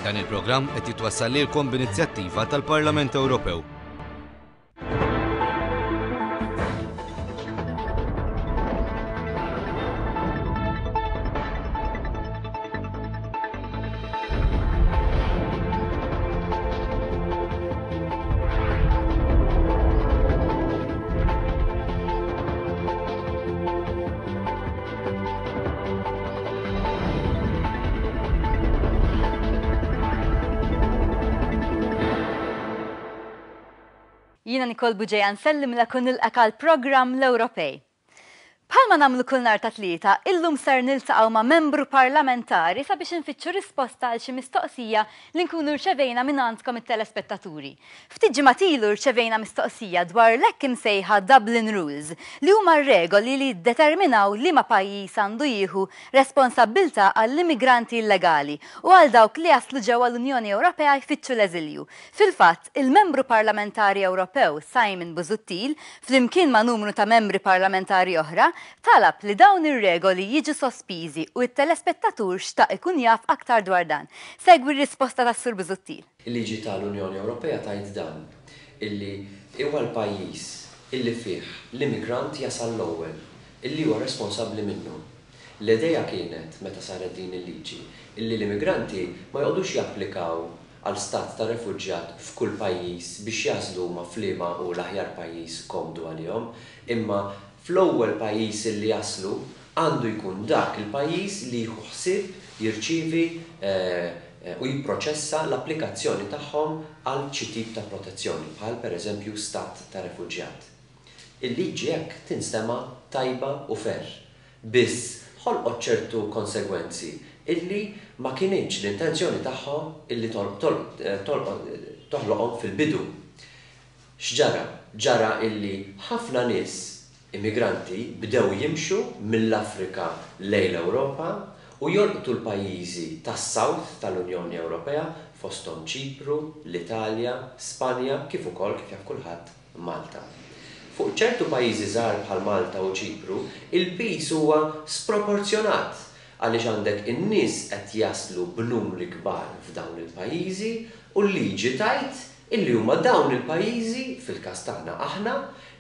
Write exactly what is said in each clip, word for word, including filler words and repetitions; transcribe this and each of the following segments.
Dan il-programm qed jitwassal lilkom b'inizjattiva tal-Parlament Ewropew. Jiena Nicole Bugeja nsellimlek u nilqgħek għall-programm L-Ewropej. Bħalma nagħmlu kull nhar ta' Tlieta, illum ser niltaqgħu ma' membru parlamentari sabiex infittxu risposta għal xi mistoqsija li nkunu rċevejna minn għandkom it-telespettaturi. Ftit ġimgħat ilu rċevejna mistoqsija dwar l-hekk imsejħa Dublin Rules, li huma regoli li jiddeterminaw liema pajjiż għandu jieħu responsabbiltà għall-immigranti illegali u għal dawk li jaslu ġewwa l-Unjoni Ewropea jfittxu l-eżilju. Fil-fatt, il-membru parlamentari Ewropew Simon Busuttil, flimkien ma' numru ta' membri parlamentari oħra, talab li dawn ir-regoli jiġu sospiżi u t-telespettatur xtaq ikun jaf aktar dwar dan. Segwi r-risposta tas-Sur Busuttil. Il-liġi tal-Unjoni Ewropea tgħid dan, illi huwa l-pajjiż illi fih l-immigrant jasal l-ewwel, illi huwa responsabbli minnu. L-idea kienet, meta saret din il-liġi, illi l-immigranti ma joqogħdux japplikaw għal stat ta' refuġjat f'kull pajjiż biex jażlu huma f'liema hu l-aħjar pajjiż komdu għalihom, imma fl-ewwel pajjiż illi jaslu għandu jkun dak il-pajjiż li jieħu ħsieb jirċievi, eh, eh, u jipproċessa l-applikazzjoni tagħhom għal xi tip ta' protezzjoni, bħal pereżempju stat ta' refuġjat. Il-liġi hekk tinstema' tajba u fer, biss ħolqot ċertu konsegwenzi illi ma kienx l-intenzjoni tagħhom illi tol-, tol-, eh, tol-, toħloqhom fil-bidu. X'ġara? Ġara illi ħafna nies immigranti bdew jimxu mill-Afrika lejn l-Ewropa u jolqtu l-pajjiżi tas-South tal-Unjoni Ewropea fosthom Ċipru, l-Italja, Spanja, kif ukoll kif jaf kulħadd Malta. Fuq ċertu pajjiżi żgħar bħal Malta u Ċipru, il-piż huwa sproporzjonat għaliex għandek in-nies qed jaslu b'numri kbar f'dawn il-pajjiżi u l-liġi tgħid illi huma dawn il-pajjiżi, fil-każ tagħna aħna,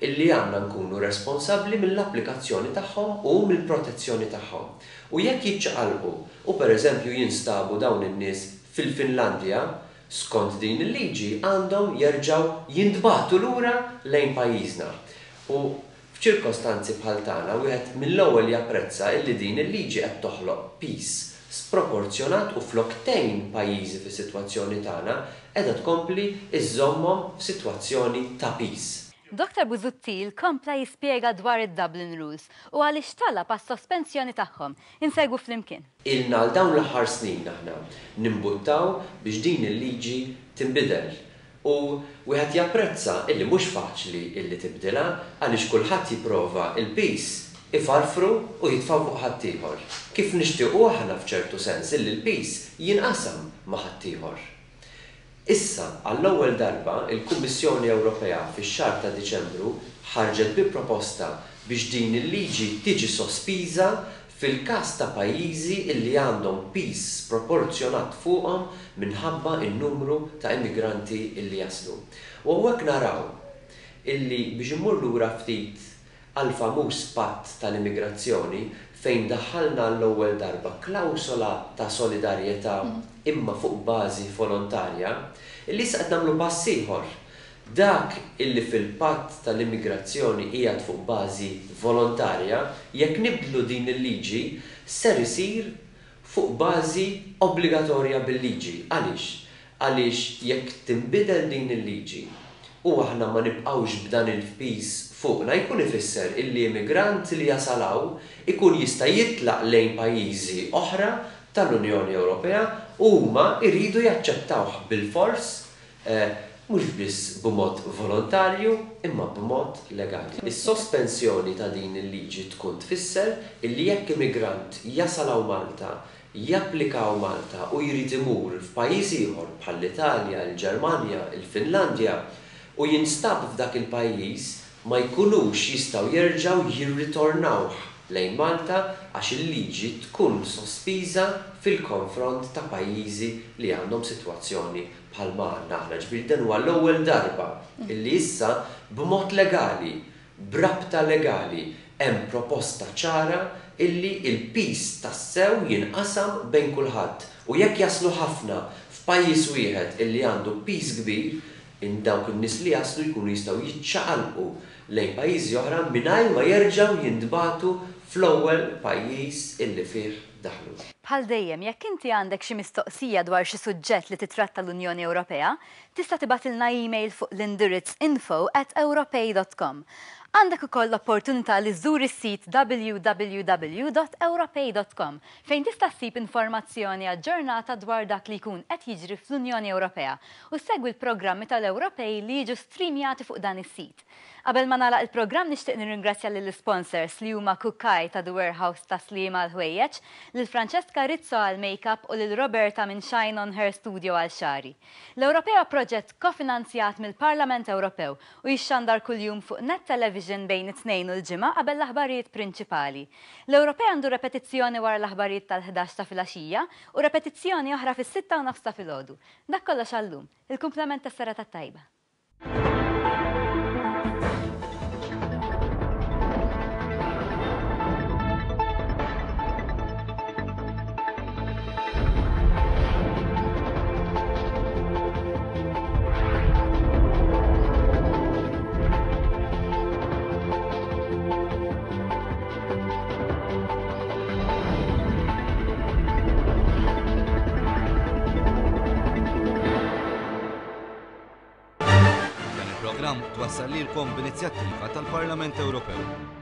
illi għandna nkunu responsabbli mill-applikazzjoni tagħhom u mill-protezzjoni tagħhom. U jekk jiċċaqalqu u pereżempju jinstabu dawn in-nies fil-Finlandja, skont din il-liġi għandhom jerġgħu jintbagħtu lura lejn pajjiżna. U f'ċirkostanzi bħal tagħna wieħed mill-ewwel japprezza illi din il-liġi qed toħloq piż sproporzjonat u flok tgħin pajjiżi fis-sitwazzjoni tagħna qiegħda tkompli iżżommhom f'sitwazzjoni ta' piż. Doktor Busuttil kompla jispjega dwar id-Dublin Rules u għaliex talab għas-sospensjoni tagħhom. Insegwu flimkien. Ilna għal dawn l-aħħar snin aħna nimbuttaw biex din il-liġi tinbidel. U wieħed japprezza illi mhux faċli illi tibdilha għaliex kulħadd jipprova il-piż ifarfru u jitfgħu fuq ħaddieħor. Kif nixtiequ aħna f'ċertu sens illi l-piż jinqasam ma' ħaddieħor. Issa, għall-ewwel darba, il-Kummissjoni Ewropea fix-xahar ta' Diċembru ħarġet bi proposta biex din il-liġi tiġi sospiża fil-każ ta' pajjiżi illi għandhom piż sproporzjonat fuqhom minħabba n-numru ta' immigranti illi jaslu. U hawnhekk naraw illi biex immur lura ftit għal famuż patt tal-immigrazzjoni fejn daħħalna l-ewwel darba klawsola ta' solidarjetà imma fuq bażi volontarja, illi issa qed nagħmlu pass ieħor. Dak illi fil-patt tal-immigrazzjoni qiegħed fuq bażi volontarja, jekk nibdlu din il-liġi ser isir fuq bażi obbligatorja bil-liġi. Għaliex? Għaliex jekk tinbidel din il-liġi u aħna ma nibqgħux b'dan il-piż fuqna, jkun ifisser illi immigrant li jasal hawn ikun jista' jitlaq lejn pajjiżi oħra tal-Unjoni Ewropea u huma jridu jaċċettawh bil-fors, eh, mhux biss b'mod volontarju imma b'mod legali. Is-sospensjoni ta' din il-liġi tkun tfisser illi jekk immigrant jasal hawn Malta, japplika hawn Malta u jrid imur f'pajjiż ieħor bħall-Italja, il-Ġermanja, il-Finlandja u jinstab f'dak il-pajjiż ma jkunux jistgħu jerġgħu jirritornawh lejn Malta għax il-liġi tkun sospiża fil-konfront ta' pajjiżi li għandhom sitwazzjoni bħalma għandna aħna. Ġifieri dan huwa l-ewwel darba illi issa b'mod legali, b'rabta legali, hemm proposta ċara illi il-piż tassew jinqasam bejn kulħadd. U jekk jaslu ħafna f'pajjiż wieħed illi għandu piż kbir, in dawk in-nies li jaslu jkunu jistgħu jiċċaqalqu lejn pajjiżi oħra mingħajr ma jerġgħu jintbagħtu fl-ewwel pajjiż illi fih daħlu. Bħal dejjem, jekk inti għandek xi mistoqsija dwar xi suġġett li titratta l-Unjoni Ewropea, tista' tibgħatilna email fuq l-indirizz info at ewropej dot com. Għandek ukoll l-opportunità li żżur is-sit w w w dot ewropej dot com fejn tista' ssib informazzjoni aġġornata dwar dak li jkun qed jiġri fl-Unjoni Ewropea u segwi l-programmi tal-Ewropej li jiġu streamjati fuq dan is-sit. Qabel ma nagħlaq il-programm nixtieq nirringrazzja lill-sponsors li huma Kukaj ta' The Warehouse ta' Sliema għal ħwejjeġ, lil Francesca Rizzo għal makeup u lil Roberta minn Shine on Her Studio għal xari. L-Ewropej huwa proġett kofinanzjat mill-Parlament Ewropew u jixxandar kuljum fuq Net Television bejn it-Tnejn u l-Ġimgħa qabel l-aħbarijiet prinċipali. L-Ewropej għandu repetizzjoni wara l-aħbarijiet tal-ħdax ta' filgħaxija u repetizzjoni oħra fis-sitta u nofs ta' filgħodu. Dak kollox għallum. Il-kumplament tas-serata tajba. Twassal lilkom b'inizjattiva tal-Parlament Ewropew.